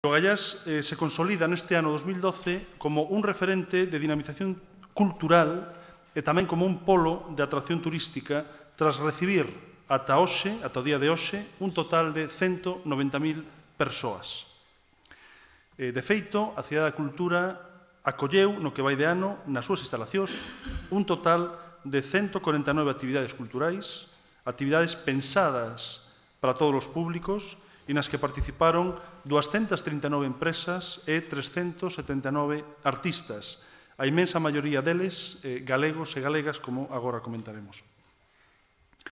O Gaiás se consolida neste ano 2012 como un referente de dinamización cultural e tamén como un polo de atracción turística tras recibir ata o día de hoxe, un total de 190.000 persoas. De feito, a Cidade da Cultura acolleu no que vai de ano, nas súas instalacións, un total de 149 actividades culturais, actividades pensadas para todos os públicos e nas que participaron 239 empresas e 379 artistas, a inmensa maioría deles galegos e galegas, como agora comentaremos.